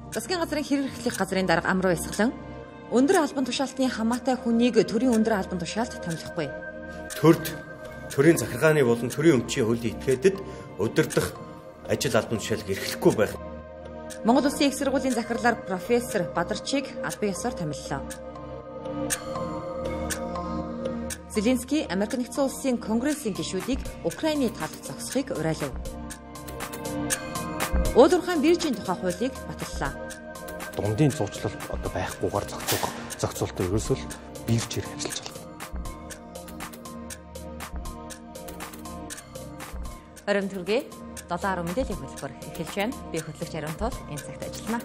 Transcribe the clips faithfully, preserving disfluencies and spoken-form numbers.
Засгийн газрын хэрэглэх газрын дарга ам руу эсгэлэн өндөр албан тушаалтны хамаатай хүнийг төрийн өндөр албан тушаалд томилохгүй. Төрд төрийн захиргааны болон төрийн өмчийн хуулийн этгээдэд удирдах ажил албан тушаалыг эрхлэхгүй байх. Монгол Улсын их сургуулийн захирлаар профессор Бадарчийг албан ёсоор томиллоо. Зеленский Америк нэгдсэн улсын конгрессийн гишүүдийг Украины талд зогсохыг уриалав. Уулуурхайн биржийн тухай хуулийг баталлаа. Дундын зуучлал одоо байхгүйгээр зохицох зохицуултыг ерөөсөө биржээр ажиллаж байна. Орон төргий долоо арван мэдээллийн хөтөлбөр эхэлж байна. Би хөтлөгч Ариун Туул энэ цагт ажиллана.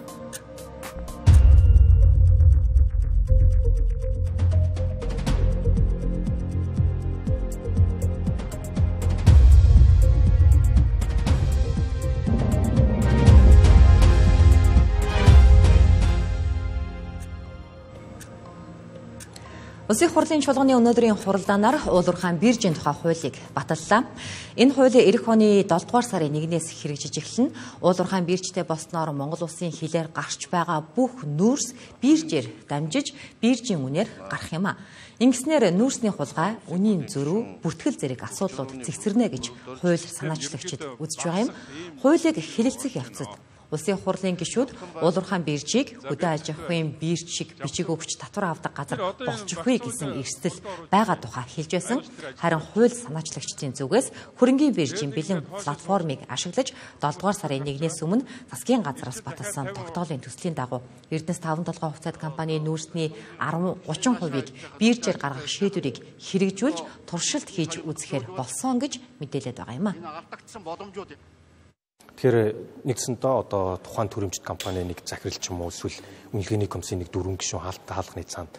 Улсын хурлын чуулганы өнөөдрийн хуралдаанаар уулуурхайн биржийн тухай хуулийг баталлаа. Энэ хууль эх оны долдугаар сарын нэгнээс хэрэгжиж эхэлнэ. Уулуурхайн биржтэй болсноор Монгол улсын хилээр гарч байгаа бүх нүүрс биржээр дамжиж биржийн үнээр гарах юм а. Ингэснээр нүүрсний хулгай, үнийн зөрүү, бүртгэл зэрэг асуудлууд цэгцэрнэ гэж хууль санаачлагчид үзэж байгаа юм. Хуулийг хэлэлцэх явцад Улсын хурлын гишүүд уулуурхайн биржийг хөдөө аж ахуйн бирж шиг бичиг өгч татвар авдаг газар болчихгүй гэсэн эрсдэл байгаа тухай хэлж байсан. Харин хууль санаачлагчдын зүгээс хөрөнгийн биржийн бэлэн платформыг ашиглаж долдугаар сарын нэгнээс өмнө засгийн газраас баталсан тогтоолын төслийн дагуу Эрдэнэс таван толгой хувьцаат компани нүүрсний арван гучин хувийг биржээр гаргах шийдвэрийг хэрэгжүүлж туршилт хийж үзэхээр болсон гэж мэдээлээд байгаа юм а. Тэгэхээр нэгсэндээ одоо тухайн төрөмчт компани нэг захирал ч юм уу эсвэл үнэлгээний комиссийн нэг дөрвөн гишүүн хаалттай хаалганы цаанд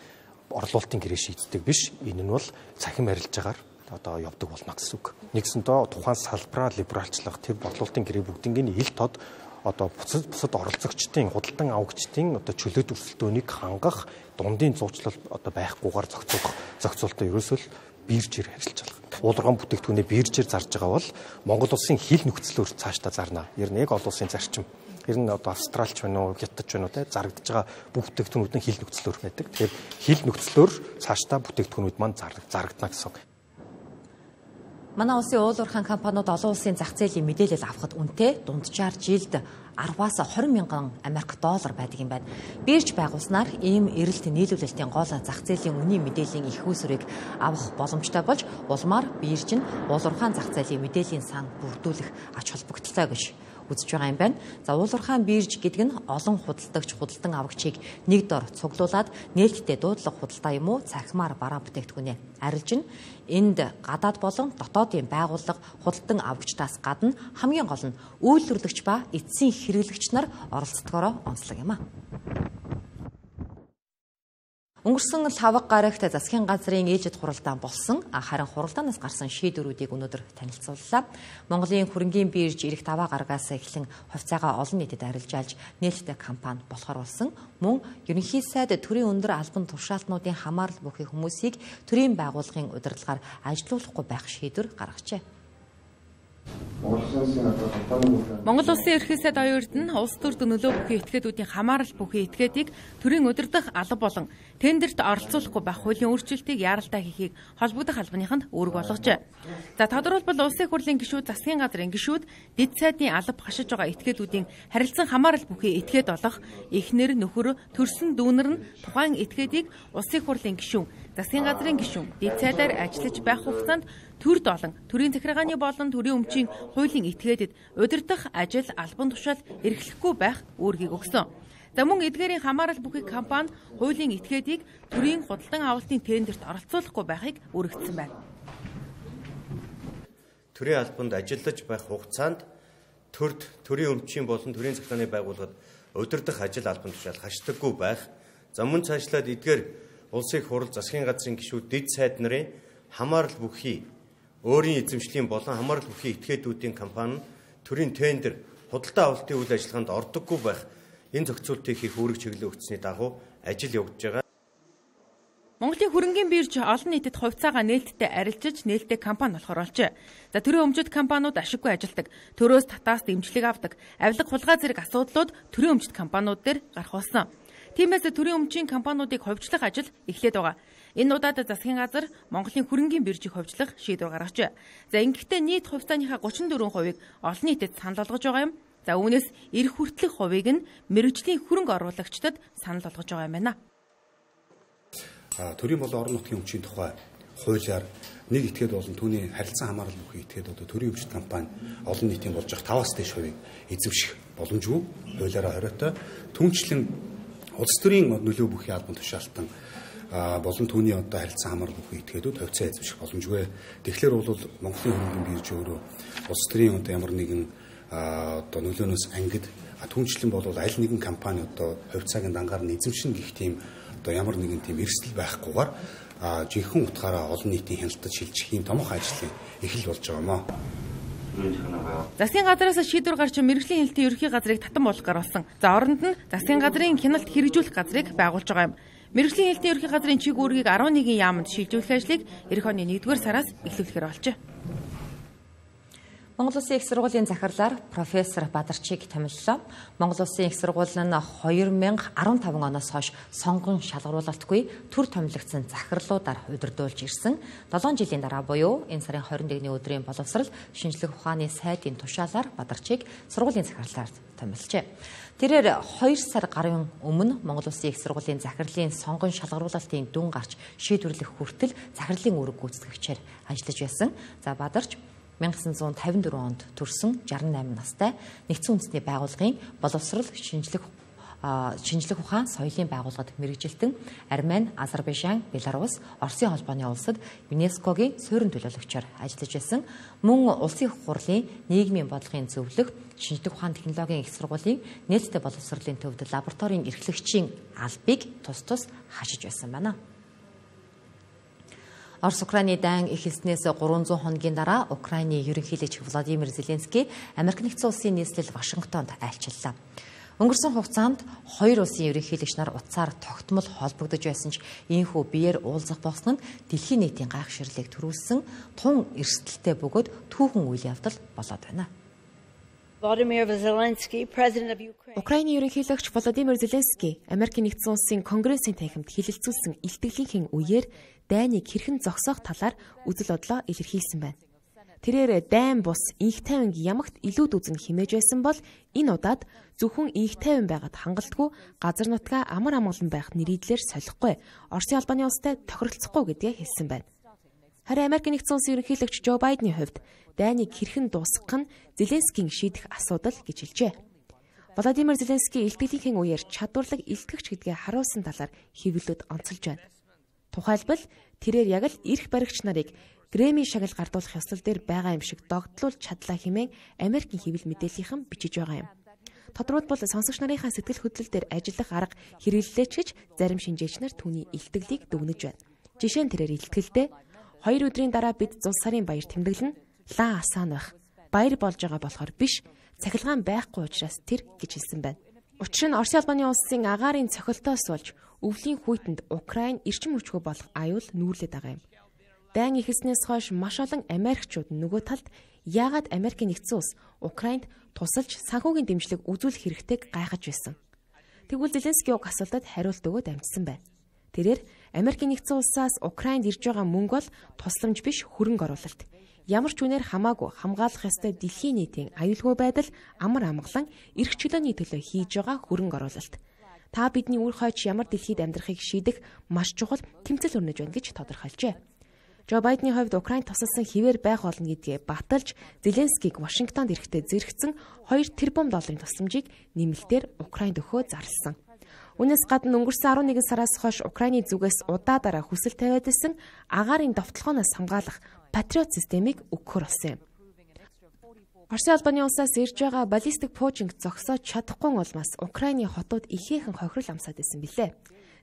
орлуулалтын гэрээ шийддэг биш. Энэ нь бол цахим арилжаагаар одоо явдаг болно гэсэн үг. Нэгсэндээ тухайн салбараа либералчлах тэр борлуулалтын гэрээ бүгднийг ил тод одоо бусад бусад оролцогчдын худалдан авагчдын одоо чөлөөт өрсөлдөөнийг хангах дундын зуучлал одоо байхгүйгээр зохицуулах зохицуултаа ерөөсөө биржээр ажиллаж байгаа. Уулуурхайн бүтээгдэхүүнээ биржээр зарж байгаа бол Монгол улсын хил нөхцлөөр цаашдаа зарна. Ер нь яг олон улсын зарчим. Ер нь одоо Австралч байна уу, Хятадч байна уу те зарагдаж байгаа бүх бүтээгдэхүүнүүд нь хил нөхцлөөр байдаг. Тэгэхээр хил нөхцлөөр цаашдаа бүтээгдэхүүнүүд маань зарагдана гэсэн үг. Манай улсын уулуурхайн компаниуд олон улсын зах зээлийн мэдээлэл авахд үнэтэй дунджаар жилд арваас хорин мянган Америк доллар байдаг юм байна. Бирж байгуулснаар ийм эрэлт нийлүүлэлтийн гол зах зээлийн үнийн мэдээллийн их үүсвэрийг авах боломжтой болж улмаар бирж нь уулуурхайн зах зээлийн мэдээллийн сан бүрдүүлэх ач холбогдолтой гэж үзэж байгаа юм байна. За уулуурхайн бирж гэдэг нь олон худалдагч худалдан авагчийг нэг дор цуглуулад нээлттэй дуудлага худалдаа юм уу цахимаар бараа бүтээгдэхүүнээ арилжна. Энд гадаад болон дотоодын байгууллага худалдан авагчдаас гадна хамгийн гол нь үйлдвэрлэгч ба эцсийн хэрэглэгч нар оролцдогоороо онцлог юм а. Өнгөрсөн лавга гарагт засгийн газрын ээлжид хуралдаан болсон. Харин хуралдаанаас гарсан шийдвэрүүдийг өнөөдөр танилцууллаа. Монголын хөрөнгийн бирж ирэх даваа гарагаас эхлэн хувьцаагаа олон нийтэд арилжаалж нээлттэй компани болохоор болсон. Мөн ерөнхий сайд төрийн өндөр албан тушаалтнуудын хамаарал бүхий хүмүүсийг төрийн байгууллагын удирдлагаар ажилуулахгүй байх шийдвэр гаргажээ. Монгол Улсын ерөнхий сайд оюун эрдэнэ улс төрд нөлөө бүхий этгээдүүдийн хамаарал бүхий этгээдийг төрийн удирдах алба болон тендерт оролцуулахгүй байх хуулийн өөрчлөлтийг яаралтай хийхийг холбогдох албаныханд үүрэг болгожээ. За тодорхойлбол улсын хурлын гишүүд, засгийн газрын гишүүд, дэд сайдын алба хашиж байгаа этгээдүүдийн харилцан хамаарал бүхий этгээд болох эхнэр, нөхөр, төрсөн дүүнэр нь тухайн этгээдийг улсын хурлын гишүүн, засгийн газрын гишүүн, дэд сайдаар ажиллаж байх хугацаанд төр долон төрийн захиргааны болон төрийн өмчийн хуулийн этгээдэд удирдах ажил албан тушаал эрхлэхгүй байх үүргийг өгсөн. За мөн эдгээрийн хамаарал бүхий компани хуулийн этгээдийг төрийн худалдан авалтын тендерт оролцуулахгүй байхыг үүрэгдсэн байна. Төрийн албанд ажиллаж байх хугацаанд төрд төрийн өмчийн болон төрийн захиргааны байгууллагад удирдах ажил албан тушаал хашдаггүй байх. За мөн цаашлаад эдгээр улсын хурал, засгийн газрын гишүүд, дэд сайд нарын хамаарал бүхий өөрийн эзэмшлийн болон хамаарал бүхий этгээдүүдийн компани төрийн тендер худалдаа авалтын үйл ажиллагаанд ордоггүй байх энэ зохицуултыг хийх үүрэг чиглэл өгсөний дагуу ажил явагдаж байгаа. Монголын хөрөнгийн бирж олон нийтэд хувьцаагаа нээлттэй арилжиж нээлттэй компани болохоор болжээ. За төрийн өмчит компаниуд ашиггүй ажилдаг, төрөөс татаас дэмжлэг авдаг, авилга хулгай зэрэг асуудлууд төрийн өмчит компаниуд дээр гарах болсон. Тиймээс төрийн өмчийн компаниудыг ховжлох ажил эхлээд байгаа. Энэ удаад засгийн газар Монголын хөрөнгийн биржийг ховжлох шийдвэр гаргажээ. За ингэхдээ нийт хувьцааныхаа гучин дөрвөн хувийг олон нийтэд санал болгож байгаа юм. За үүнээс эх хүртэлх хувийг нь мэргэжлийн хөрөнгө оруулагчдад санал болгож байгаа юм байна. Төрийн болон орон нутгийн өмчийн тухай хуулиар нэг этгээд болон түүний харилцан хамаарал бүхий этгээд одоо төрийн өмчит компани олон нийтийн болж байгаа таваас дээш хувийг эзэмших боломжгүй хуулиараа хориотой. Түүнчлэн улс төрийн нөлөө бүхий албан тушаалтан болон түүний одоо харилцан хамаарал бүхий этгээдүүд хувьцаа эзэмших боломжгүй. Тэгэхээр бол Монголын хөрөнгөний бирж өөрөө улс төрийн одоо ямар нэгэн одоо нөлөөнөөс ангид түүнчлэн бол аль нэгэн компани одоо хувьцааг дангаар нь эзэмшин гэх тийм одоо ямар нэгэн тийм эрсдэл байхгүйгээр жинхэнэ утгаараа олон нийтийн хяналтад шилжих юм томоохон ажлын эхэл болж байгаа юм аа. Засгийн газраас шийдвэр гарч мэргэжлийн хяналтын ерөнхий газрыг татан болгохоор болсон. За оронд нь засгийн газрын хяналт хэрэгжүүлэх газрыг байгуулж байгаа юм. Мэргэжлийн хяналтын ерөнхий газрын чиг үүргийг арван нэгэн яамд шилжүүлэх ажлыг эх оны нэгдүгээр сараас эхлүүлэхээр болжээ. Монгол Улсын их сургуулийн захирлаар профессор Бадарчиг томиллоо. Монгол Улсын их сургууль нь две тысячи десять оноос хойш сонгон шалгаруулалтгүй төр томилогдсон захирлуудаар удирдуулж ирсэн. долоон жилийн дараа буюу энэ сарын двадцать нэгний өдрийн боловсрал шинжлэх ухааны сайдын тушаалаар Бадарчиг сургуулийн захирлаар томилжээ. Тэрээр хоёр сар гарын өмнө Монгол Улсын их сургуулийн захирлын сонгон шалгаруулалтын дүн гарч шийдвэрлэх хүртэл захирлын үүрэг гүйцэтгэгчээр ажиллаж байсан. За Бадарч 천구 백오십사 онд төрсөн шестьдесят восемь настай нэгдсэн үндэсний байгууллагын боловсрал шинжлэх шинжлэх ухаан соёлын байгууллагад мэргэжилтэн Армени, Азербайжан, Беларусь, Оросын холбооны улсад ЮНЕСКОгийн суурин төлөөлөгчөөр ажиллаж байсан. Мөн улсын их хурлын нийгмийн бодлогын зөвлөх шинжлэх ухааны технологийн их сургуулийн нээлттэй боловсролын төвд лабораторийн эрхлэгчийн албыг тус тус хашиж байсан байна. Орос Украины дан эхэлснээс гурван зуун хоногийн дараа Украины ерөнхийлөгч Владимир Зеленский Америк нэгдсэн улсын нийслэл Вашингтонд айлчлаа. Өнгөрсөн хугацаанд хоёр улсын ерөнхийлөгч нар утсаар тогтмол холбогдож байсан ч ийхүү биеэр уулзах болсон нь дэлхийн нийтийн гайхширлыг төрүүлсэн тун эрсдэлтэй бөгөөд түүхэн үйл явдал болоод байна. Украины ерөнхийлөгч Владимир Зеленский Америк нэгдсэн улсын Конгрессийн танхимд хилэлцүүлсэн илтгэлийнхэн үеэр дайныг хэрхэн зогсоох талаар үзэл бодлоо илэрхийлсэн байна. Тэрээр дайн бус инх тайван ямагт илүүд үзэн химээж байсан бол энэ удаад зөвхөн инх тайван байгаад хангалтгүй газар нутгаа амар амгалан байх нэрийдлэр солихгүй Оросын албаны улстай тохиролцохгүй гэдгээ хэлсэн байна. Харин Америк нэгдсэн улсын ерөнхийлөгч Жо Байдены хувьд дайныг хэрхэн дуусгах нь Зеленскийн шийдэх асуудал гэж хэлжээ. Владимир Зеленский илтгэлийнхэн үеэр чадварлаг илтгэгч гэдгээ харуулсан талаар хэвлэлүүд онцолж байна. Тухайлбал тэрээр яг л эрх баригч нарыг Грэмми шагнал гардуулах ёслол дээр байгаа юм шиг догтлуулж чадлаа хэмээн Америкийн хэвлэл мэдээллийнхэн бичиж байгаа юм. Тодорхойлбол сонсогч нарынхаа сэтгэл хөдлөл дээр ажиллах арга хэрэглэлээч гэж зарим шинжээч нар түүний илтгэлийг дүгнэж байна. Жишээ нь тэрээр илтгэлдээ хоёр өдрийн дараа бид зул сарын баяр тэмдэглэн лаа асаан байх. Баяр болж байгаа болохоор биш, цахилгаан байхгүй учраас тэр гэж хэлсэн байна. Учир нь Оросын албаны улсын агаарын цохилтоос болж өвлийн хүйтэнд Украин эрчим хүчгүй болох аюул нүүрлээд байгаа юм. Дайн эхэлснээс хойш маш олон Америкчууд нөгөө талд яагаад Америк нэгдсэн улс Украинд тусалж санхүүгийн дэмжлэг үзүүлэх хэрэгтэйг гайхаж байсан. Тэгвэл Зеленский уг асуултад хариулт өгөөд амжсан байна. Тэрээр Америк нэгдсэн улсаас Украинд ирж байгаа мөнгө бол тусламж биш хөрөнгө оруулалт. Ямар ч үнээр хамаагүй хамгаалах ёстой дэлхийн нийтийн аюулгүй байдал амар амгалан эрх чөлөөний төлөө хийж байгаа хөрөнгө оруулалт. Та бидний үр хойч ямар дэлхийд амьдрахыг шийдэх маш чухал тэмцэл өрнөж байна гэж тодорхойлжээ. Жо Байдены хувьд Украинд тусалсан хിവэр байх болно гэдгээ баталж Зеленскийг Вашингтонд ирэхдээ зэрэгцэн хоёр тэрбум долларын тусламжийг нэмэлтээр Украинд өгөхөө зарласан. Үүнээс гадна өнгөрсөн арван нэгэн сараас хойш Украины зүгээс удаадараа хүсэл тавиад исэн агаарын довтлохоноос хамгаалах Патриот системийг өгөхөр болсон юм. Оросын албаны улсаас ирж байгаа баллистик пуужинг зогсоож чадахгүй улмаас Украины хотууд ихээхэн хохирол амсаад исэн билээ.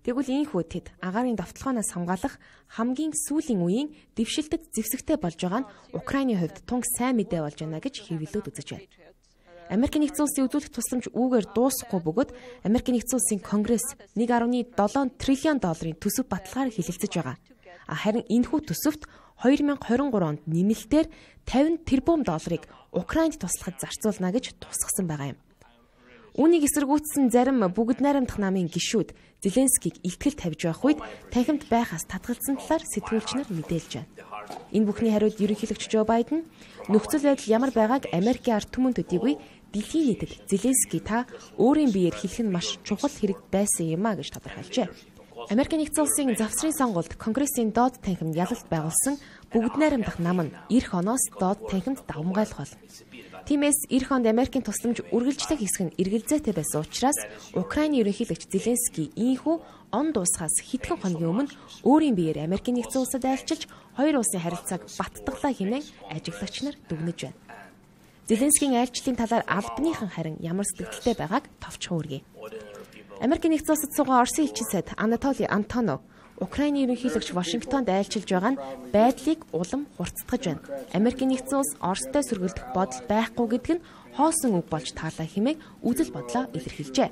Тэгвэл ийхүү тэд агаарын довтлохоноос хамгаалах хамгийн сүүлийн үеийн дэвшилтэд зэвсэгтэй болж байгаа нь Украины хувьд тунг сайн мэдээ болж байна гэж хэвлэлүүд үзэж байна. Америкийн нэгдсэн улсын үзүүлэх тусламж үүгээр дуусахгүй бөгөөд Америкийн нэгдсэн улсын Конгресс нэг нөлөөгүй седем триллион долларын төсөв баталгаар хэлэлцэж байгаа. Харин энэхүү төсөвт хоёр мянга хорин гурав онд нэмэлтээр тавин тэрбум долларыг Украинд туслахад зарцуулна гэж тусгасан байгаа юм. Үүнийг эсэргүүцсэн зарим бүгд найрамдах намын гишүүд Зеленскийг илтгэл тавьж байх үед танхимд байхаас татгалзсан талаар сэтгүүлч нар мэдээлж байна. Энэ бүхний хариуд ерөнхийлөгч Жо Байден нөхцөл байдал ямар байгааг Америкийн ард түмэн төдийгүй дэлхийн нийтэд Зеленский та өөрийн биеэр хэлэх нь маш чухал хэрэг байсан юм а гэж тодорхойлжээ. Америкийн нэгдсэн улсын завсрын сонгуульд Конгрессийн доод танхимд ялалт байгуулсан бүгд найрамдах нам нь эх оноос доод танхимд давмгайлах болно. Тиймээс эх онд Америкийн тусламж үргэлжлэх хэсэг нь эргэлзээтэй байсан учраас Украиний ерөнхийлөгч Зеленский ийхүү он дуусахаас хэдхэн хоногийн өмнө өөрийн биеэр Америкийн нэгдсэн улсад айлчилж хоёр улсын харилцааг баттгалаа хэмээн ажиглагч нар дүгнэж байна. Зеленскийн айлчлалын талаар албаныхан харин ямар сэтгэлтэй байгааг товчхон үргэе. Америкийн нэгдсэн улсад суугаа Оросын элчин сайд Анатолий Антонов Украиний ерөнхийлөгч Вашингтонд айлчилж байгаа нь байдлыг улам хурцдгаж байна. Америкийн нэгдсэн улс Оростой сөргөлдөх бодол байхгүй гэдг нь хоосон үг болж таалаа хэмээн үзэл бодлоо илэрхийлжээ.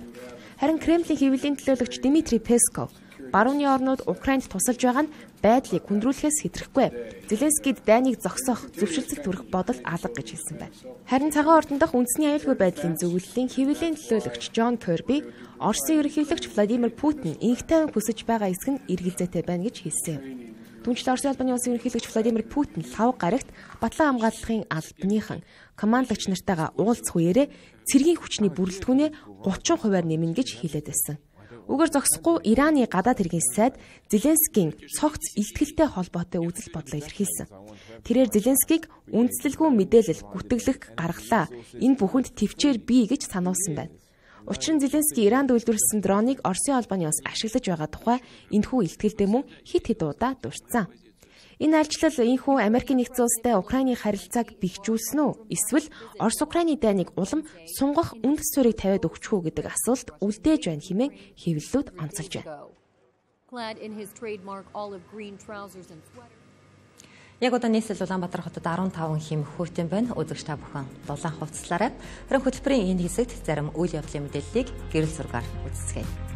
Харин Кремлийн хэвлэлийн төлөөлөгч Дмитрий Песков барууны орнууд Украинд тусалж байгаа нь байдлыг хүндрүүлэхээс хэтрэхгүй. Зеленскийд дайныг зогсоох, зөвшөлтсөл төрөх бодол алга гэж хэлсэн байна. Харин цагаан ордон дахь үндэсний аюулгүй байдлын зөвлөлийн хэвлэлийн төлөөлөгч Джон Kirby Оросын ерөнхийлөгч Владимир Путин инх тайван хүсэж байгаа хэсэг нь эргэлзээтэй байна гэж хэлсэн юм. Түүнчлэн Оросын албаны улсын ерөнхийлөгч Владимир Путин лав гарагт батлан хамгааллахын албаныхан командлагч нартайгаа уулзах үеэрээ цэргийн хүчний бүрэлдэхүүнээ гучин хувиар нэмнэ гэж хэлээд байсан. Үгээр зогсохгүй Ираны гадаад хэргийн сайд Зеленскийн цогц илтгэлтэй холбоотой үзэл бодлоо илэрхийлсэн. Тэрээр Зеленскийг үндэслэлгүй мэдээлэл гүтгэлэх гаргалаа. Энэ бүхэнд төвчээр бий гэж сануулсан байна. Учир нь Зеленский Иранд үйлдвэрлэсэн дроныг Оросын албаны улс ашиглаж байгаа тухай энэхүү илтгэлдээ мөн хит хит удаа дурдсан. Энэ айлчлал энэхүү Америкийн нэгдсэн улстай Украиний харилцааг бэхжүүлсэн үү? Эсвэл Орос Украиний дайныг улам сунгах үндэс суурийг тавиад өгч үү гэдэг асуулт үлдээж байна хэмээн хэвлэлүүд онцолж байна. Яг одоо нийслэл Улаанбаатар хотод арван таван хэм хүүтэн байна. Үзэгч та бүхэн дулаан хувцаслаарай. Харин хөтөлбөрийн энэ хэсэгт зарим үйл явдлын мэдээллийг гэрэл зургаар үздэцгээе.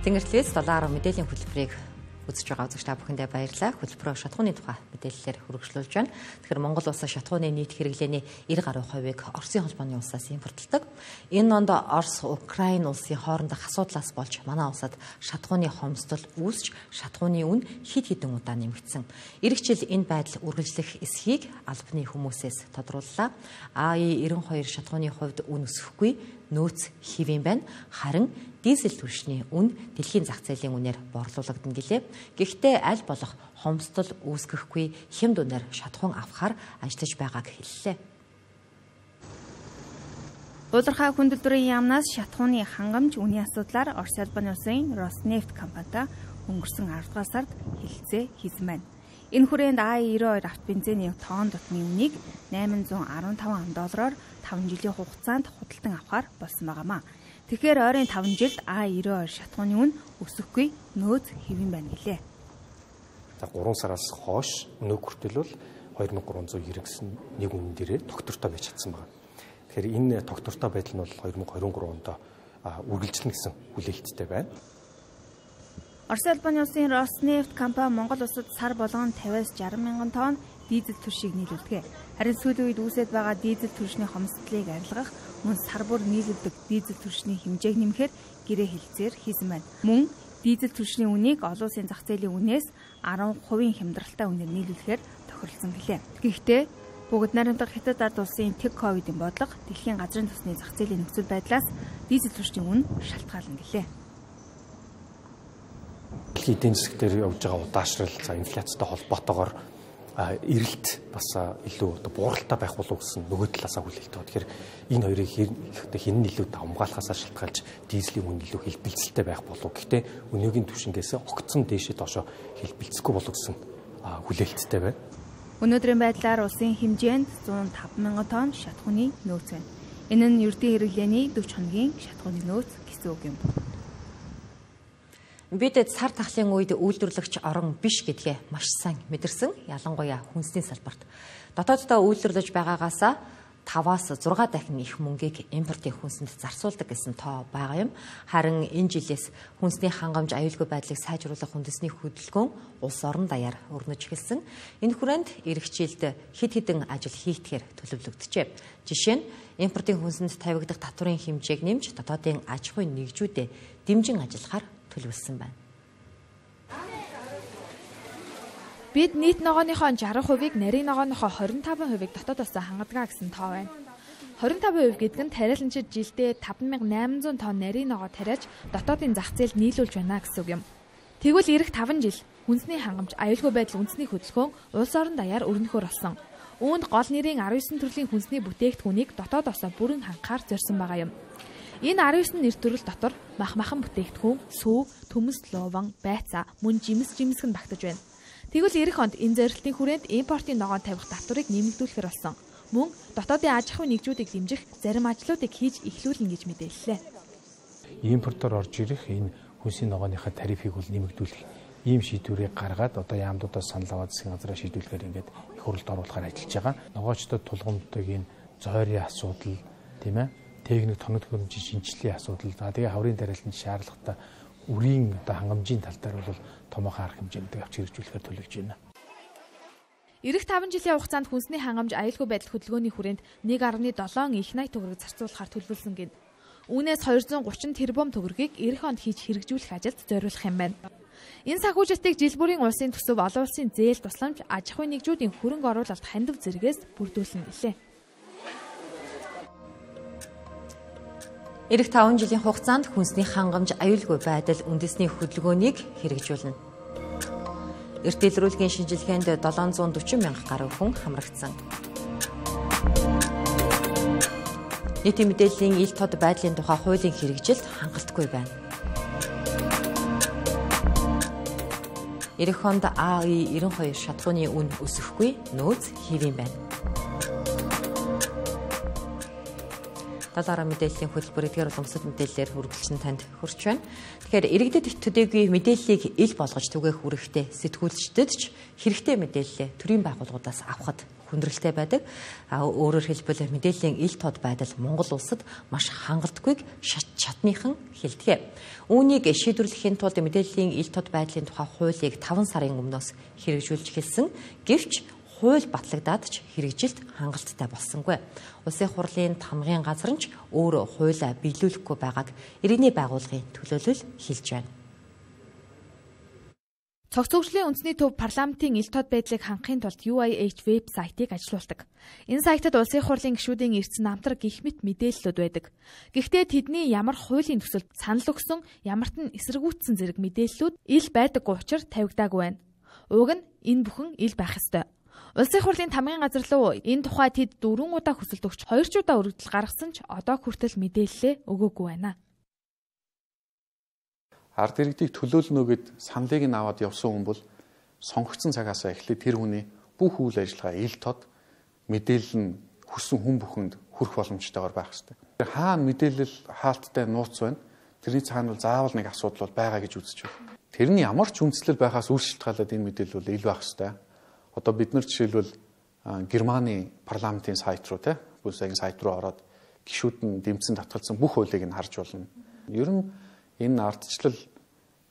Тэнгэртлээс доллараар мэдээллийн хөтөлбөрийг үзэж байгаа үзэгч та бүхэндээ баярлалаа. Хөтөлбөрөө шатхууны тухай мэдээллээр хөргөжлүүлж байна. Тэгэхээр Монгол улсаа шатхууны нийт хэрэглээний девять гаруй хувийг Оросын холбооны улсаас импортлдог. Энэ онд Орос, Украин улсын хоорондох асуудлаас болж манай улсад шатхууны хомсдол үүсч шатхууны үн хэд хэдэн удаа нэмэгдсэн. Ирэх жил энэ байдал үргэлжлэх эсхийг албаны хүмүүсээс тодрууллаа. А И девяносто two шатхууны хувьд үн өсөхгүй нөөц хэвэн байна. Харин дизель түвшний үн дэлхийн зах зээлийн үнээр борлуулагдана гэлээ. Гэхдээ аль болох хомсдол үүсгэхгүй хэм дүнээр шатхуун авахар ажиллаж байгааг хэллээ. Удирдах хүндлэлтийн яамнаас шатхууны хангамж үнийн асуудлаар Оросын албаны улсын Роснефть компанитай өнгөрсөн аравдугаар сард хэлэлцээ хийсэн байна. Энэ хүрээнд А И девяносто хоёр автобензиний тонн дутмын үнийг найман зуун арван таван ам доллараар таван жилийн хугацаанд худалдан авахар болсон байгаамаа. Тэгэхээр ойрын таван жилд А И девяносто хоёр шатхууны үн өсөхгүй нөөц хэвэн байна гэлээ. За гурван сараас хойш өнөө хүртэл бол хоёр мың гурван зуун девяносто гэсэн нэг үнэн дээрээ тогтвортой байж чадсан байна. Тэгэхээр энэ тогтвортой байдал нь бол хоёр мың двадцать три онд үргэлжлэнэ гэсэн хүлээлттэй байна. Орос улбаны улсын Роснефть компани Монгол улсад сар болгон тавиас жарган мянган тонн дизель түлшийг нийлүүлдэг. Харин сүүлийн үед үүсэж байгаа дизель түлшний хомсдлыг арилгах мөн сар бүр нийлүүлдэг дизель түлшний хэмжээг нэмэхээр гэрээ хэлцээр хийсэн байна. Мөн дизель түлшний үнийг олон улсын зах зээлийн үнээс арван хувийн хямдралтай үнээр нийлүүлэхээр тохиролцсон гэлээ. Гэхдээ бүгд найрамдах Хятад ард улсын тэг ковидын бодлого дэлхийн газрын тосны зах зээлийн нөхцөл байдлаас дизель түлшний үн шалтгаална гэлээ. Дэлхийн эдийн засаг дээр явж байгаа удаашрал, за инфляцтай холбоотойгоор эрэлт бас илүү одоо бууралтай байх болов гэсэн нөгөө талаасаа хүлээлт байна. Тэгэхээр энэ хоёрыг хэн нь илүү хамгаалахаас шалтгаалж дизелийн үн илүү хэлбэлцэлтэй байх болов. Гэхдээ өнөөгийн түвшингээс огцон дээшээ доошо хэлбэлцэхгүй болов гэсэн хүлээлттэй байна. Өнөөдрийн байдлаар улсын хэмжээнд зуун таван мянган тонн шатхууны нөөц байна. Энэ нь ердийн хэрэглээний дөрвөн хоногийн шатхууны нөөц гэсэн үг юм. Бид сар тахлын үед үйлдвэрлэгч орон биш гэдгээ маш сайн мэдэрсэн, ялангуяа хүнсний салбарт. Дотооддоо үйлдвэрлэж байгаагаасаа таваас зургаан дахин их мөнгийг импортын хүнсэнд зарцуулдаг гэсэн тоо байгаа юм. Харин энэ жилээс хүнсний хангамж аюулгүй байдлыг сайжруулах үндэсний хөдөлгөөн улс орон даяар өрнөж эхэлсэн. Энэ хүрээнд эх жилд хэд хэдэн ажил хийгдэхээр төлөвлөгдөжээ. Жишээ нь импортын хүнсэнд тавигдах татварын хэмжээг нэмж дотоодын аж ахуйн нэгжүүдэд дэмжин ажиллахаар төлөвлөсөн байна. Бид нийт ногооныхоо шарх хувийг нарийн ногооныхоо хорин таван хувийг дотоодоос хангадаг гэсэн тоо байна. хорин таван хувь гэдэг нь тариаланчид жилдээ таван мянган найман зуун тонн нарийн ногоо тариаж дотоодын зах зээлд нийлүүлж байна гэсэн үг юм. Тэгвэл эх таван жил хүнсний хангамж аюулгүй байдал үндэсний хөдөлгөөн улс орон даяар өрнөхөр болсон. Үүнд гол нэрийн арван девять төрлийн хүнсний бүтээгдэхүүнийг дотоодоос бүрэн хангахаар зорьсон байгаа юм. Энэ арван девять нэр төрөл дотор мах махан бүтээгдэхүүн, сүү, төмөс, луван, байцаа, мөн жимс жимсгэн багтаж байна. Тэгвэл эх онд энэ зорилтын хүрээнд импортын ногоон тавих татварыг нэмэгдүүлэхээр болсон. Мөн дотоодын аж ахуйн нэгжүүдийг дэмжих зарим ажлуудыг хийж эхлүүлнэ гэж мэдээллээ. Импортоор орж ирэх энэ хүнсний ногооныхаа тарифыг бол нэмэгдүүлэх ийм шийдвэрийг гаргаад одоо яамдуудаас санал аваад засгийн газраа шийдвэрлэхээр ингээд их хурлд оруулахаар ажиллаж байгаа. Ногоочдод тулгамддаг энэ зойрын асуудал, тийм ээ, техник тоног хөрөмжийн шинжилгээний асуудал, за тэгээ хаврын тариаланд шаардлагатай үрийн одоо хангамжийн тал дээр бол томоохон арга хэмжээнд авч хэрэгжүүлэхээр төлөвлөж байна. Ирэх таван жилийн хугацаанд хүнсний хангамж аюулгүй байдал хөдөлгөөний хүрээнд нэг гаруй долоон их найт төгрөг зарцуулахаар төлөвлөсөн гин. Үүнээс двести гурван тэрбум төгрөгийг эх онд хийж хэрэгжүүлэх ажилд зориулах юм байна. Энэ санхүүжилтийг жил бүрийн улсын төсөв, олон улсын зээл тусламж, аж ахуйн нэгжүүдийн хөрөнгө оруулалт хандив зэрэгээс бүрдүүлнэ гэлээ. Ирэх таван жилийн хугацаанд хүнсний хангамж аюулгүй байдал үндэсний хөдөлгөөнийг хэрэгжүүлнэ. Эрт дэлгэрүүлгийн шинжилгээнд долоон зуун дөрвөн мянга гаруй хүн хамрагдсан. Нийтийн мэдээллийн ил тод байдлын тухай хуулийн хэрэгжилт хангалтгүй байна. Ирэх онд А И девяносто хоёр шатхууны үн өсөхгүй, нөөц хэвэн байна. Талаараа мэдээллийн хөтөлбөр эдгээр уламжлалт мэдээллээр хүргэлцэн танд хүрч байна. Тэгэхээр иргэдэд төдийгүй мэдээллийг ил болгож түгээх үүрэгтэй сэтгүүлчдэд ч хэрэгтэй мэдээллээ төрийн байгууллагуудаас авахд хүндрэлтэй байдаг. А өөрөөр хэлбэл мэдээллийн ил тод байдал Монгол улсад маш хангалтгүйг шат чатныхан хэлдэг. Үүнийг шийдвэрлэхийн тулд мэдээллийн ил тод байдлын тухай хуулийг таван сарын өмнөөс хэрэгжүүлж эхэлсэн. Гэвч хууль батлагдаад ч хэрэгжилт хангалттай болсонгүй. Улсын хурлын тамгын газар нь ч өөрөө хуулиа биелүүлэхгүй байгааг иргэний байгууллагын төлөөлөл хэлж байна. Цогцлогчлийн үндэсний төв парламентын ил тод байдлыг хангахын тулд ю ай эйч веб сайтыг ажилуулдаг. Энэ сайтад улсын хурлын гишүүдийн эрдэс намтар гих мэт мэдээллүүд байдаг. Гэхдээ тэдний ямар хуулийн төсөлд санал өгсөн, ямарт нь эсэргүүцсэн зэрэг мэдээллүүд ил байдаггүй учраас тавигдаагүй байна. Уг нь энэ бүхэн ил байх ёстой. Улсын хурлын тамгын газар руу энэ тухай тэд дөрвөн удаа хүсэлт өгч хоёр ч удаа өргөдөл гаргасан ч одоо хүртэл мэдээлэлээ өгөөгүй байна. Ард иргэдийг төлөөлнө гэд саналыг нь аваад явсан хүн бол сонгогдсон цагаас эхлээд тэр хүний бүх үйл ажиллагаа ил тод мэдээлэл нь хүссэн хүн бүхэнд хүрэх боломжтойгоор байх хэрэгтэй. Хаана мэдээлэл хаалттай нууц байна? Тэрний цаана бол заавал нэг асуудал бол байгаа гэж үзэж байна. Тэрний ямар ч үндслэл байхаас үл шалтгаалаад энэ мэдээлэл бол ил байх хэрэгтэй. Одоо бид нар жишээлбэл Германы парламентын сайт руу те бүсгийн сайт руу ороод гишүүд нь дэмжсэн татгалзсан бүх хуулийг нь харж болно. Ер нь энэ ардчлал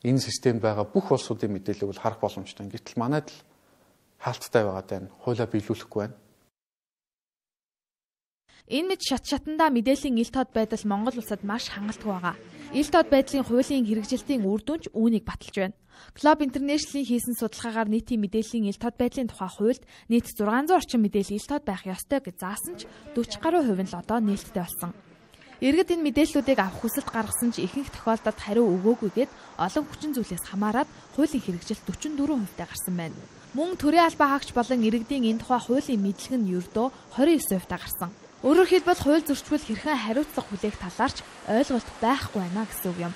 энэ системд байгаа бүх улсуудын мэдээллийг бол харах боломжтой. Гэтэл манайд л хаалттай байгаа даа хуулиа биелүүлэхгүй байна. Энэ мэд шат шатандаа мэдээллийн ил тод байдал Монгол улсад маш хангалттай байгаа. Ил тод байдлын хуулийн хэрэгжилтийн үр дүнч үүнийг баталж байна. Globe International-ийн хийсэн судалгаагаар нийтийн мэдээллийн ил тод байдлын тухай хуульд нийт зургаан зуун орчим мэдээлэл ил тод байх ёстой гэж заасан ч дөрвөн гаруй хувь нь л одоо нээлттэй болсон. Иргэд энэ мэдээллүүдийг авах хүсэлт гаргасан ч ихэнх тохиолдолд хариу өгөөгүйгээд олон хүчин зүйлээс хамаарат хуулийн хэрэгжилт дөрвөн дөрвөн хувьтай гарсан байна. Мөн төрийн албаа хаагч болон иргэдийн энэ тухай хуулийн мэдлэг нь ердөө двадцать девять хувьтай гарсан. Өөрөөр хэлбэл хууль зөрчил хэрхэн хариуцлага хүлээх талаарч ойлголт байхгүй байна гэсэн үг юм.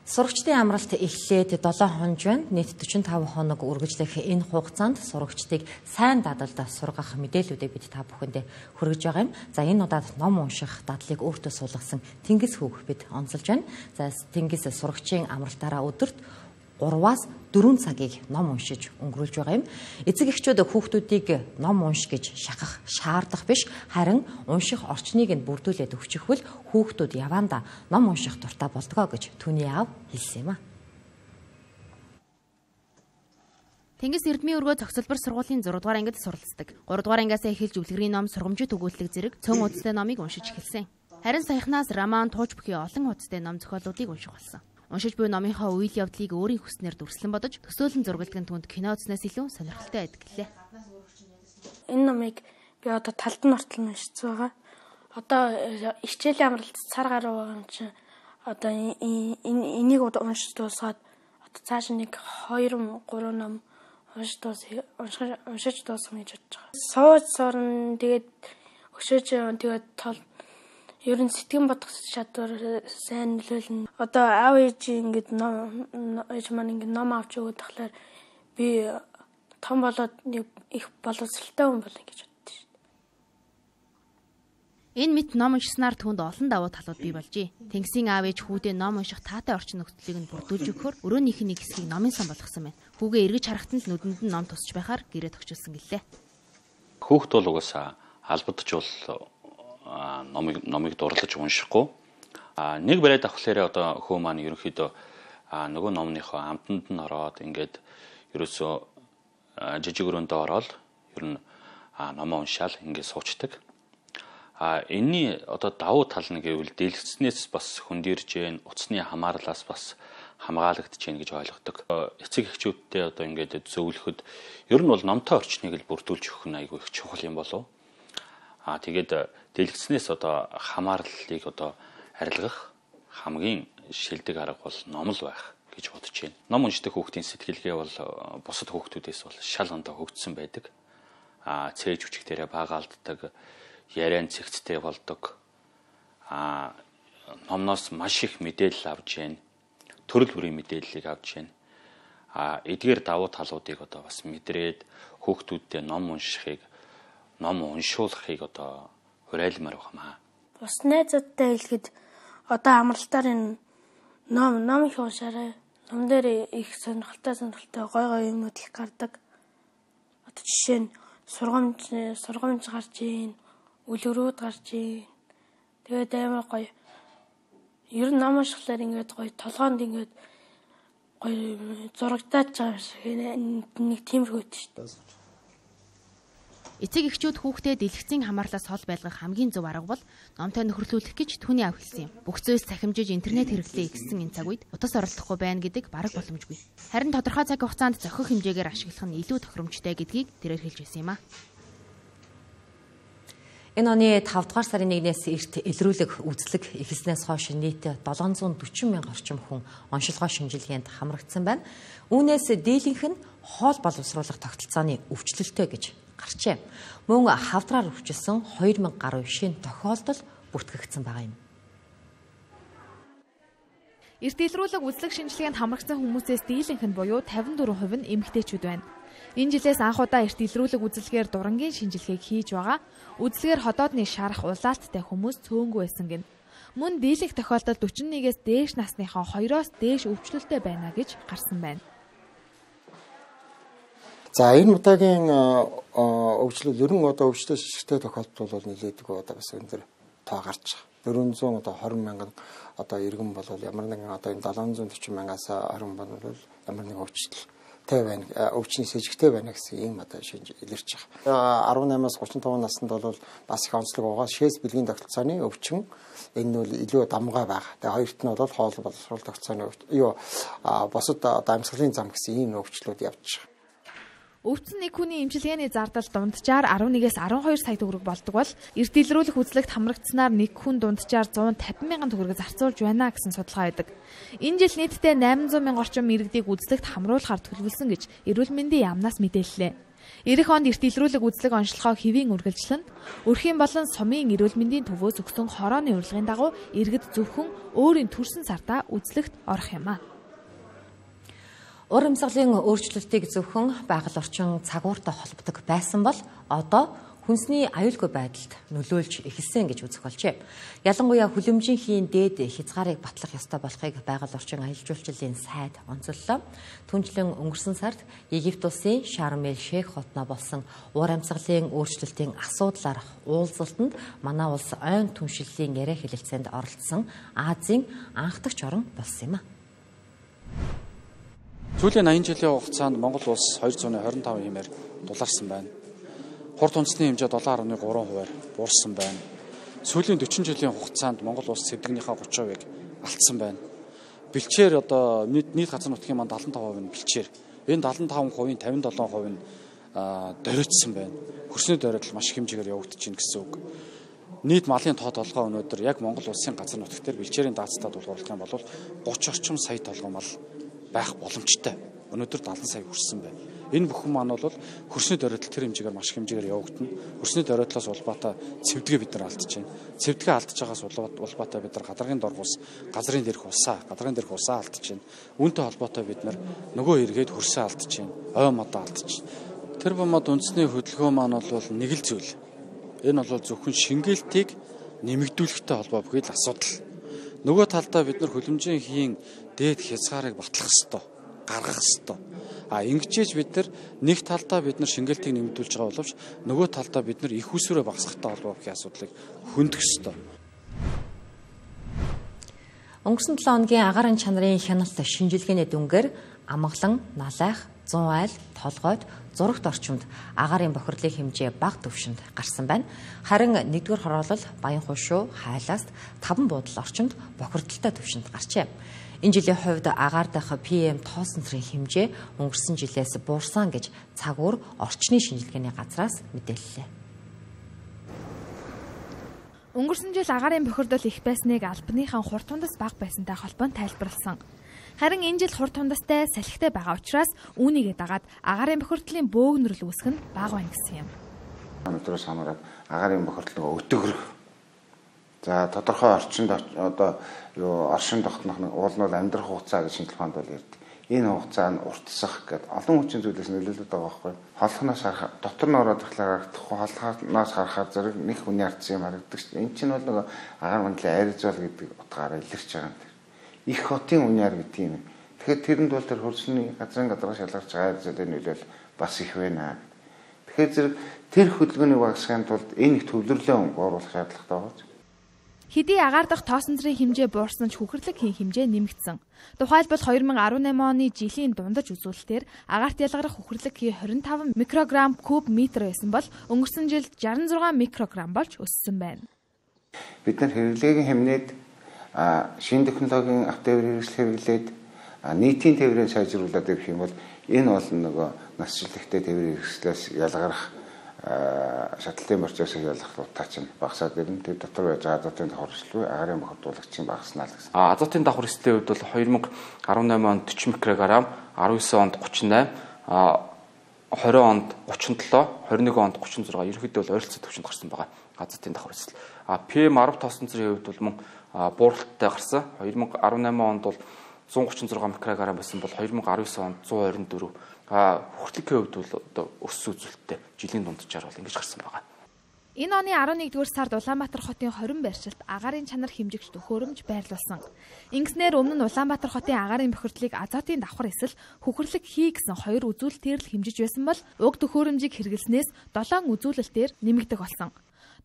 Сурагчдын амралт эхлээд долоо хоног байна. Нийт дөрвөн таван хоног үргэлжлэх энэ хугацаанд сурагчдыг сайн дадлалд сургах мэдээллүүдийг бид та бүхэндээ хүргэж байгаа юм. За энэ удаад ном унших дадлыг өөртөө суулгасан Тэнгис хүүг бид онцолж байна. За Тэнгис сурагчийн амралтаараа өдөрт гураваас дөрвөн цагийг ном уншиж өнгөрүүлж байгаа юм. Эцэг эхчүүд хүүхдүүдийг ном унш гэж шахах шаардах биш, харин унших орчныг нь бүрдүүлээд өгчихвэл хүүхдүүд явандаа ном унших дуртай болдгоо гэж түүний аав хэлсэн юм а. Тэнгис Эрдмийн өргөө цогцлбор сургуулийн зураг дугаар ангид суралцдаг. гурав дугаар ангиас эхэлж үлгэрийн ном сургамжит өгүүлэлт зэрэг цөөн удастай номыг уншиж эхэлсэн. Харин саяхнаас роман, тууч бүхий олон удастай ном зохиолуудыг унших болсон. Уншиж буй номынхаа үйл явдлыг өөрийн хүснээр дүрслэн бодож, төсөөлөн зургалдаг түнд кино үзнээс илүү сонирхолтой байдаг гэлээ. Энэ номыг би одоо талд нь ортол уншиж байгаа. Одоо хичээлийн амралт цар гаруй байгаа юм чинь одоо энийг уншиж дуусгаад одоо цааш нэг хоёр гурван ном уншиж дуусах уншиж дуусах гэж бодож байгаа. Сууж сорн тэгээд өшөөж тэгээд тол ер нь сэтгэн бодох чадвар сайн нөлөөлнө. Одоо аав ээж ингэж ном ээж маань ингэ ном авч өгöd тахлаар би том болоод нэг их боловсралтай хүн болно гэж боддоо шүү дээ. Энэ мэт ном уншсанаар түнд олон давуу талууд бий болжээ. Тэнгисийн аав ээж хүүдээ ном унших таатай орчин нөхцөлийг нь бүрдүүлж өгөхөөр өрөөнийх нь нэг хэсгийг номын сан болгосон байна. Хүүгээ эргэж харахтан л нүдэнд нь ном тусч байхаар гэрээ төгчүүлсэн гэлээ. Хүүхд бол угаасаа албадч бол номыг номыг дурлаж уншихгүй. А нэг барайд авахлаарэ одоо хөө маань ерөнхийдөө нөгөө номныхоо амтанд нь ороод ингээд ерөөсөө жижиг өрөөндөө ороод ер нь номоо уншаал ингээд суучдаг. А энэний одоо давуу тал нь гэвэл дэлгэцнээс бас хөндөрж гэн, утасны хамаарлаас бас хамгаалагдж гэн гэж ойлгодог. Эцэг эхчүүдтэй одоо ингээд зөвлөхөд ер нь бол номтой орчныг л бүрдүүлж өгөх нь айгүй их чухал юм болов. А тэгээд дэлгэцнээс одоо хамаарлыг одоо арилгах хамгийн шилдэг арга бол ном л байх гэж бодож байна. Ном уншдаг хүүхдийн сэтгэлгээ бол бусад хүүхдүүдээс бол шал ондоо хөгжсөн байдаг. А цээж хүчгтэрээ баагаалддаг, яриан цэгцтэй болдог. А номноос маш их мэдээлэл авч байна. Төрөл бүрийн мэдээллийг авч байна. А эдгээр давуу талуудыг одоо бас мэдрээд хүүхдүүдтэй ном уншихыг, ном уншуулахыг одоо хурайлмаар байна. Бус найзуудтай хэлэхэд одоо амралтаар энэ ном ном их уншаарай. Ном дээр их сонирхолтой сонирхолтой гой гой юмнууд их гардаг. Одоо жишээ нь сургамж сургамж гарч ийн, үлгэрүүд гарч ийн. Тэгээд амар гоё. Ер нь ном уншихлаар ингээд гоё толгоонд ингээд гоё зурагтаач байгаа шиг нэг тиймэрхүү шүү дээ. Эцэг эхчүүд хүүхдээ дэлгэцийн хамаарлаас хол байлгах хамгийн зөв арга бол номтой нөхөрлүүлэх гэж түүний аав хэлсэн юм. Бүх зүйлс цахимжиж интернет хэрэглээ ихсэн энэ цаг үед утас оролдохгүй байна гэдэг бараг боломжгүй. Харин тодорхой цаг хугацаанд зохих хэмжээгээр ашиглах нь илүү тохиромжтой гэдгийг тэрээр хэлж байсан юм а. Энэ оны тавд дугаар сарын нэгнээс эрт илрүүлэг үзлэг эхэлснээс хойш нийт долоон зуун дөрвөн мянга орчим хүн оншилгоо шинжилгээнд хамрагдсан байна. Үүнээс дийлэнх нь хоол боловсруулах тогтолцооны өвчлөлтөө гэж гарчээ. Мөн хавдраар өвчлсөн хоёр мянга гаруй шинэ тохиолдол бүртгэгдсэн байгаа юм. Эрт илрүүлэг үзлэг шинжилгээнд хамрагдсан хүмүүсээс дийлэнх нь буюу тавин дөрвөн хувь нь эмэгтэйчүүд байна. Энэ жилээс анх удаа эрт илрүүлэг үзлэгээр дурангийн шинжилгээг хийж байгаа. Үзлэгээр ходоодны шарах улаалттай хүмүүс цөөнгүй байсан гин. Мөн дийлэнх тохиолдолд дөрвөн нэгээс дээш насныхаа хоёроос дээш өвчлөлтэй байна гэж гарсан байна. За энэ удаагийн өвчлөл ер нь одоо өвчлөл шишгтэй тохиолдол бол нэлээдэг одоо бас энэ төр тоо гарч байгаа. дөрвөн зуун одоо хорин мянган одоо иргэн бол ямар нэгэн одоо энэ долоон зуун орчим мянгаас хорин бол ямар нэгэн өвчлөлтэй байна, өвчний сэжигтэй байна гэсэн ийм одоо шинж илэрч байгаа. арван наймаас гурван таван наснд бол бас их онцлог байгаа. Шээс бэлгийн тогтолцооны өвчин энэ нь бол илүү дамгаа байгаа. Тэгээ хоёрт нь бол хоол боловсрол тогтолцооны юу босод одоо амьсгалын зам гэсэн ийм өвчлүүд явж байгаа. Өвдсөн нэг хүний эмчилгээний зардал дунджаар арван нэгээс арван хоёр сая төгрөг болдог бол эрт илрүүлэх үзлэгт хамрагдсанаар нэг хүн дунджаар зуун тавин мянган төгрөг зарцуулж байна гэсэн судалгаа байдаг. Энэ жил нийтдээ найман зуун мянган орчим иргэдийг үзлэгт хамруулахаар төлөвлөсөн гэж эрүүл мэндийн яамнаас мэдээллээ. Ирэх онд эрт илрүүлэг үзлэг онцлогоо хэвийн үргэлжлэн өрхийн болон сумын эрүүл мэндийн төвөөс өгсөн хорооны урилгын дагуу иргэд зөвхөн өөрийн төрсөн сартаа үзлэгт орох юм а. Ур амьсгалын өөрчлөлтийг зөвхөн байгаль орчин цагууртай холбодог байсан бол одоо хүнсний аюулгүй байдалд нөлөөлж эхэлсэн гэж үзэх болжээ. Ялангуяа хүлэмжийнхийн дээд хязгаарыг батлах ёстой болохыг байгаль орчин аялал жуулчлалын сайд онцоллоо. Түүнчлэн өнгөрсөн сард Египт улсын Шарм эль Шейх хотноо болсон ур амьсгалын өөрчлөлтийн асуудлаар уулзалтанд манай улс ойн түншлэлийн яриа хэлэлцээнд оролцсон Азийн анх дахь орн болсон юм а. Сүүлийн аян жилийн хугацаанд Монгол улс хоёр зуун хорин таван хэмээр дулаарсан байна. Хурд үндэсний хэмжээ долоон гаруй гурван хувиар буурсан байна. Сүүлийн дөрвөн жилийн хугацаанд Монгол улс цэвдэгнийхээ гурван хувийг алдсан байна. Бэлчээр одоо нийт газар нутгийн манд седем хувь нь бэлчээр. Энэ седем хувийн тавин долоон хувь нь дөрөйтсөн байна. Хөрсний дөрөйтөл маш их хэмжээгээр явагдаж байна гэсэн үг. Нийт малын тоо толгой өнөөдөр яг Монгол улсын газар нутагт дээр бэлчээрийн даацтад дуулгарлах юм бол гурван орчим сая толгой мал байх боломжтой. Өнөөдөр седем сая хүрсэн байна. Энэ бүхэн маань бол хөрсний дөрөйтөл тэр хэмжээгээр маш их хэмжээгээр явагдана. Хөрсний дөрөөтлөөс улбаатай цэвдэгээ бид нар алдаж байна. Цэвдэгээ алдаж байгаас улбаатай бид нар гадаргын доргуус, газрын дээрх усаа, гадаргын дээрх усаа алдаж байна. Үүнтэй холбоотой бид нар нөгөө эргээд хөрсөө алдаж байна. Ой модоо алдаж байна. Тэр бомод үндэсний хөдөлгөөн маань бол нэг л зүйл. Энэ бол зөвхөн шингээлтийг нэмэгдүүлэхтэй холбоо бүхий л асуудал. Нөгөө талдаа бид нар хүлэмжийн хийн дээд хязгаарыг батлах ёстой, гаргах ёстой. А ингэжээж бид нар нэг талдаа бид нар шингээлтийг нэмэгдүүлж байгаа боловч нөгөө талдаа бид нар их усүрээ багасгахтай холбоо бүхий асуудлыг хөндөх ёстой. Өнгөрсөн долоо хоногийн агаарын чанарын хяналт шинжилгээний дүнгээр амгалан, налайх, зун айл, толгойд, зурагт орчимд агаарын бохирлын хэмжээ бага түвшинд гарсан байна. Харин нэгдүгээр хороолол Баянхуй шуу, Хайлааст таван буудал орчимд бохирдолтой түвшинд гарчээ. Энэ жилийн хувьд агаар дахь пи эм тоосон цэргийн хэмжээ өнгөрсөн жилээс буурсан гэж цагуур орчны шинжилгээний газраас мэдээллээ. Өнгөрсөн жил агаарын бохирдол их байсныг албаныхан хурд тундас бага байсантай холбоон тайлбарласан. Харин энэ жил хурд тундастай салхитай байгаа учраас үүнийгээ дагаад агаарын бохирдлын бөөгнөрл үүсэх нь бага байна гэсэн юм. Өнөөдрөөс хамаарат агаарын бохирдлыг өтгөр. За тодорхой орчинд одоо юу оршин тогтнох нь уул нь амьдрах хугацаа гэж шинжилгээ хаанд бол ярьдаг. Энэ хугацаа нь уртсах гэдэг олон хүчин зүйлээс нөлөөлөд байгаа байхгүй. Холхоноос харах, дотор нь ороод ирэхлээр холхоноос харахаар зэрэг нэг хүний ардсан юм харагддаг шүү дээ. Энэ чинь бол нэг агаар мандлын айрзол гэдэг утгаараа илэрч байгаа юм. Их хотын үнээр гэдэг юм. Тэгэхээр тэрэнд бол тэр хөрсний газрын гадарга шалгарч байгаа айрзолын нөлөөл бас их байна. Тэгэхээр зэрэг тэр хөдөлгөөнийг багасгахын тулд энэ их төвлөрлөө оруулах шаардлагатай байна. Хэдий агаар дахь тоосон цэргийн хэмжээ буурсан ч хүхэрлэг хийн хэмжээ нэмэгдсэн. Тухайлбал хоёр мың арван найман оны жилийн дундаж үзүүлэлтээр агаарт ялгарах хүхэрлэг хий двадцать пять микрограмм куб метр байсан бол өнгөрсөн жил шестьдесят шесть микрограмм болж өссөн байна. Бид нар хэрэглээгийн хэмнээд шинэ технологийн автотевэр хэрэгсэл хэрэглээд нийтийн тээврийг сайжруулад ирэх юм бол энэ бол нөгөө насжилттай тээврийн хэрэгслээс ялгарах шатлалын процессыг ялгах утаа чинь багасаад ирнэ. Тэр дотор байж байгаа азотын давхар эслүү агаарын бохирдуулагчийн багаснаа л гэсэн. А азотын давхар эслийн хувьд бол хоёр мың арван найман онд forty микрограмм, дөрвөн онд thirty eight, а twenty онд thirty seven, twenty-one онд thirty six ерөнхийдөө бол ойролцоо төвшөнд гарсан байгаа азотын давхар эсэл. А пи эм ten тоосон цэргийн хувьд бол мөн бууралттай гарсан. хоёр мянга арван найман онд бол зуун гучин зургаан микрограмм байсан бол хоёр мянга арван девять онд зуун хорин дөрөв. А хүрхлэгийн хувьд бол одоо өссөн үзүүлэлттэй жилийн дунджаар бол ингэж гарсан байгаа. Энэ оны арван нэгдүгээр сард Улаанбаатар хотын хорин байршилт агаарын чанар хэмжигч төхөөрөмж байрлуулсан. Ингэснээр өмнө нь Улаанбаатар хотын агаарын бохирдлыг азотын давхар эсвэл хөхөрлөг хий гэсэн хоёр үзүүлэлтээр л хэмжиж байсан бол уг төхөөрөмжийг хэрэглэснээс долоон үзүүлэлтээр нэмэгдэх болсон.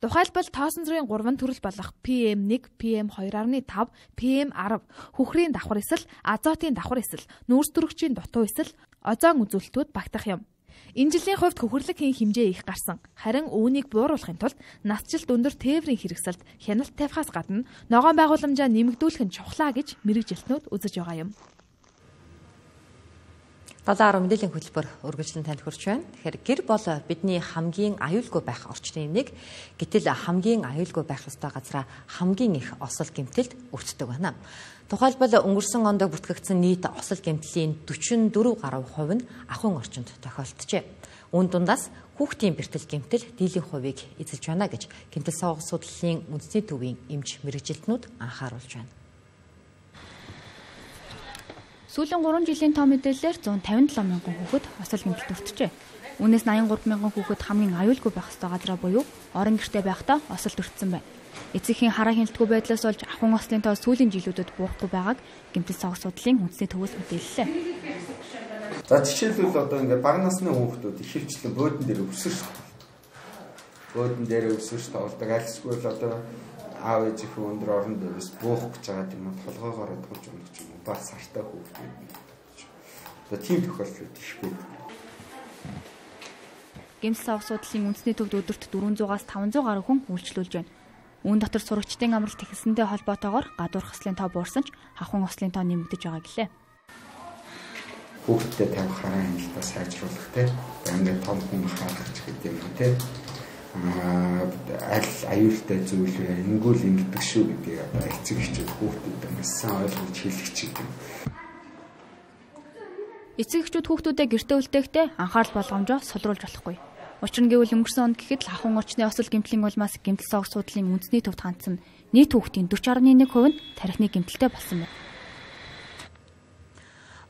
Тухайлбал тоосон зүрийн гурван төрөл болох пи эм one, пи эм two point five, пи эм ten хөхрийн давхар эсвэл азотын давхар эсвэл нүүрс төрөгчийн дутуу эсвэл озон үзүүлэлтүүд багтах юм. Энэ жилийн хувьд хөхөрлөг хийн хэмжээ их гарсан. Харин үүнийг бууруулахын тулд насжилт өндөр тээврийн хэрэгсэлд хяналт тавихаас гадна ногоон байгууламжаа нэмэгдүүлэх нь чухлаа гэж мэрэгжилтнүүд үзэж байгаа юм. Долоороо мэдээллийн хөтөлбөр үргэлжлэн танд хүрч байна. Тэгэхээр гэр бол бидний хамгийн аюулгүй байх орчны юмнэг. Гэтэл хамгийн аюулгүй байх ёстой газраа хамгийн их осол гэмтэлд өртдөг байна. Тухайлбал өнгөрсөн онд бүртгэгдсэн нийт осол гэмтлийн forty-four гаруй хувь нь ахуйн орчинд тохиолджээ. Үүн дундаас хүүхдийн бэртэл гэмтэл дийлэн хувийг эзэлж байна гэж гэмтэл савга судлалын үндэсний төвийн эмч мэрэгжилтнүүд анхааруулж байна. Сүүлийн гурван жилийн тоо мэдээлэлээр one hundred fifty-seven мянган хүүхэд осол гэмтэлд өртжээ. Үүнээс eighty-three мянган хүүхэд хамгийн аюулгүй байх ёстой газраа буюу орон гэртээ байхдаа осолд өртсөн байна. Эцэгхийн хараа хяналтгүй байдлаас болж ахуйн ослын тоо сүүлийн жилүүдэд буурахгүй байгааг гэмтэл савга судлалын үндэсний төвөөс мэдээллээ. За жишээлбэл одоо ингээд бага насны хүүхдүүд ихэвчлэн бөөдөн дээр өсөж бөөдөн дээр өсөж тоолдог. Альсгүй л одоо аав ээжийнхээ өндөр орон дээрээс буух гэж байгаа юм толгоогоор тулж өгч юм уу бас сартай хүүхдүүд. Одоо тийм тохиолдол их байдаг. Гэмтэл савга судлалын үндэсний төвд өдөрт four hundred-аас five hundred гаруй хүн үйлчлүүлж байна. Үүн дотор сурагчдын амралт ихэлсэнтэй холбоотойгоор гадуур хослын тоо буурсан ч ахуйн ослын тоо нэмэгдэж байгаа гэлээ. Хүүхдэд тавих хараа хяналтаа сайжруулах те. Ингээд том хүн харах гэдэг юм те. Аа аль аюултай зүйл вэ? Ингүүл ингэдэг шүү гэдгийг одоо эцэг эхчүүд хүүхдүүдэд сайн ойлгуулж хэлэх чиг юм. Эцэг эхчүүд хүүхдүүдэд гэртээ үлдээхдээ анхаарал болгоомжоо сулруулж болохгүй. Учир нь гэвэл өнгөрсөн онд гэхэд л ахуйн орчны осол гэмтлийн улмаас гэмтэл савга судлалын үндэсний төвд хандсан нийт хүүхдийн forty point one percent нь тархины гэмтэлтэй болсон байна.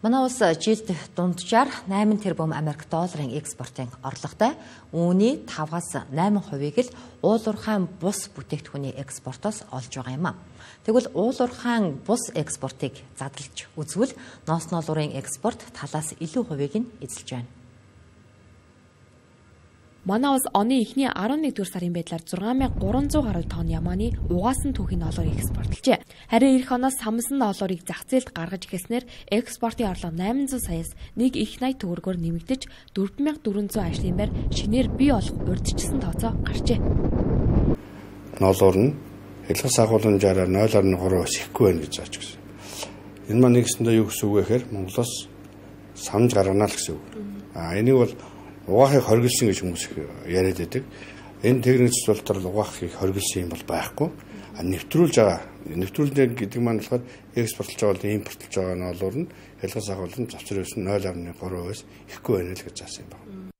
Манай улс жилд дунджаар eight тэрбум Америк долларын экспортын орлоготой. Үүний five-аас eight хувийг л уулуурхайн бус бүтээгдэхүүний экспортоос олж байгаа юм а. Тэгвэл уулуурхайн бус экспортыг задлж үзвэл ноос ноолуурын экспорт талаас илүү хувийг нь эзэлж байна. Манай улс оны эхний eleventh сарын байдлаар six thousand three hundred гаруй тонн ямааны угаасан түүхийн ноолуурыг экспортлжээ. Харин эх оноос самсан ноолуурыг зах зээлд гаргаж эхэлснээр экспортын орлого eight hundred саяас нэг их eighty төгрөгөөр нэмэгдэж four thousand four hundred ажлын байр шинээр бий болох урьдчилсан тооцоо гарчээ. Ноолуур нь хэлхээс агуулмжаараа zero point three бас ихгүй байна гэж зааж гисэн. Энэ маань нэгсэндээ юу гэсэн үг вэ гэхээр Монголоос самж гаргана л гэсэн үг. А энийг бол угаахыг хоригдсан гэж хүмүүс яриад байдаг. Энэ техник цэцүүлтэр угаахыг хоригдсан юм бол байхгүй. А нэвтрүүлж байгаа. Нэвтрүүлж гэдэг маань болохоор экспортлж байгаа бол импортлж байгаа ноолуур нь хэлхээс агуулсан завцрээс zero point three бас ихгүй байна л гэж заасан юм байна.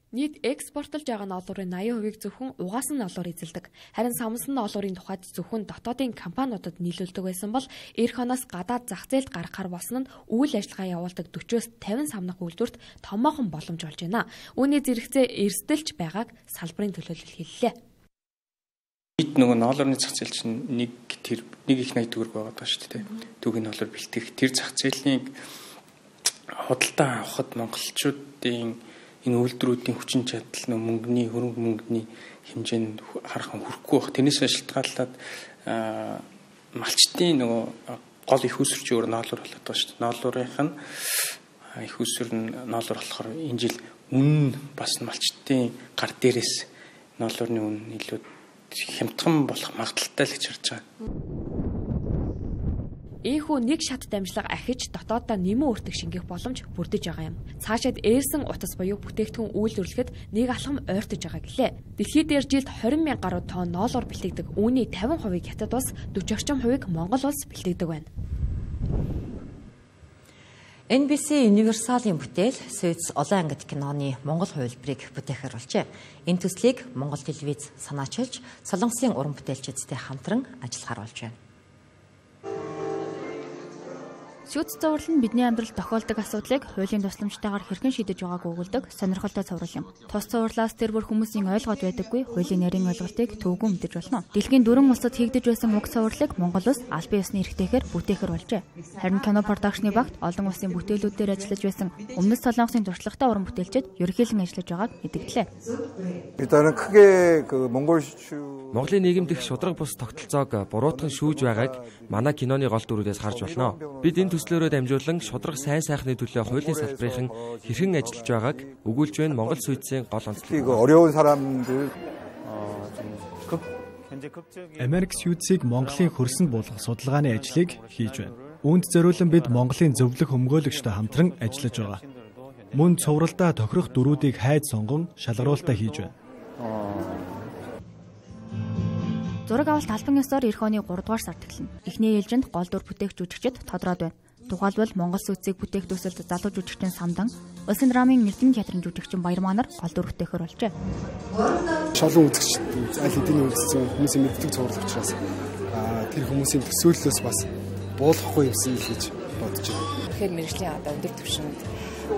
Нийт экспортлж байгаа ноолуурын eighty хувийг зөвхөн угаасан ноолуур эзэлдэг. Харин самсан ноолуурын тухайд зөвхөн дотоодын компаниудад нийлүүлдэг байсан бол эх оноос гадаад зах зээлд гаргахаар болсон нь үйл ажиллагаа явуулдаг forty-аас fifty самнах үйлдвэрт томоохон боломж болж байна. Үүний зэрэгцээ эрсдэлж байгааг салбарын төлөөлөл хэллээ. Нийт нөгөө ноолуурны зах зээл чинь нэг тэр нэг их eighty төгрөг байгаа даа шүү дээ. Түүхийн ноолуур бэлтгэх тэр зах зээлийн худалдаа авахд монголчуудын энэ үйлдвэрүүдийн хүчин чадал нөө мөнгөний хөрөнгө мөнгөний хэмжээнд харахад хүрэхгүй байх. Тэрнээс шалтгаалаад малчтын нөгөө гол их усрч өөр ноолуур болоод байгаа шүү дээ. Ноолуурынх нь их уср нь ноолуур болохоор энэ жил үнэн бас малчтын гар дээрээс ноолуурны үнэ илүү хямдхан болох магадaltaй л гэж харж байгаа. Ийхүү нэг шат дамжлага ахиж дотооддоо нэмэн өртөг шингэх боломж бүрдэж байгаа юм. Цаашид ээрсэн утас буюу бүтээгдэхүүн үйлдвэрлэхэд нэг алхам ойртож байгаа гэлээ. Дэлхийд дээр жилд twenty мянган гаруй тонн ноолуур бэлтгэдэг. Үүний fifty хувийг хятад улс, forty орчим хувийг Монгол улс бэлтгэдэг байна. эн би си Universal-ийн бүтээл Суйц олон ангид киноны Монгол хувилбарыг бүтээхээр болжээ. Энэ төслийг Монгол телевиз санаачилж, Солонгосын уран бүтээлчидтэй хамтран ажиллахаар болж байна. Шүүц зовлол нь бидний амьдралд тохиолдог асуудлыг хуулийн тусламжтайгаар хэрхэн шийдэж байгааг өгүүлдэг сонирхолтой цуврал юм. Тус цувралаас тэр бүр хүмүүсийн ойлгоод байдаггүй хуулийн нарийн ойлголтыг төвгөн мэдэж болно. Дэлхийн дөрвөн улсад хийгдэж байсан уг цувралыг Монгол улс аль биесны эрхтэйгээр бүтээхэр болжээ. Харин кино продакшны багт олон улсын бүтээлүүдээр ажиллаж байсан Өмнөд Солонгосын туршлагатай уран бүтээлчид ерөнхийлөн ажиллаж байгааг мэдгдлээ. Монголын нийгэмд их шудраг бус тогтолцоог буруутган шүүж байгааг манай киноны гол дүрүүдээс харж болно. Бид энэ төслөөрөө дамжуулан шудраг сайн сайхны төлөө хуулийн салбарын хэрхэн ажиллаж байгааг өгүүлж байна. Монгол сүйдсийн гол онцлог. Америк сүйдсийг Монголын хөрсөнд буулгах судалгааны ажлыг хийж байна. Үүнд зориулан бид Монголын зөвлөх өмгөөлөгчтэй хамтран ажиллаж байгаа. Мөн цувралдаа тохирох дүрүүдийг хайд сонгон шалгаруулалтаа хийж байна. Зураг авалт албан ёсоор эх оны гурав дугаар сард эхэлнэ. Эхний ээлжинд гол дүр бүтээх жүжигчид тодорхойд байна. Тухайлбал Монгол сүйдсийг бүтээх төсөлд залуу жүжигчин Самдан, Улсын драмын Эрдэнэ театрын жүжигчин Баярмаа нар гол дүр бүтээхэр болжээ. Шалган үзэгч аль хэдийн үзсэн хүмүүсийн мэддэг цуврал учраас тэр хүмүүсийн төсөөллөөс бас буулгахгүй юмсан л гэж бодож байна. Тэгэхээр мэргэжлийн одоо өндөр түвшинд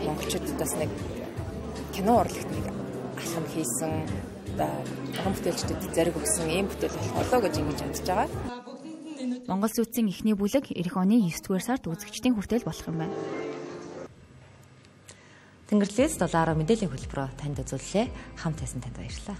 монголчуудаас нэг кино урлагт нэг алхам хийсэн уран бүтээлчдэд зариг өгсөн ийм бүтээл болоо гэж ингэж бодож байгаа. Монгол сүйдсийн эхний бүлэг эх оны девять дугаар сард үзэгчдийн хүртэл болох юм байна. Тэнгэрлэгээс долоороо мэдээллийн хөтөлбөрөөр танд үзүүллээ. Хамт байсан танд баярлалаа.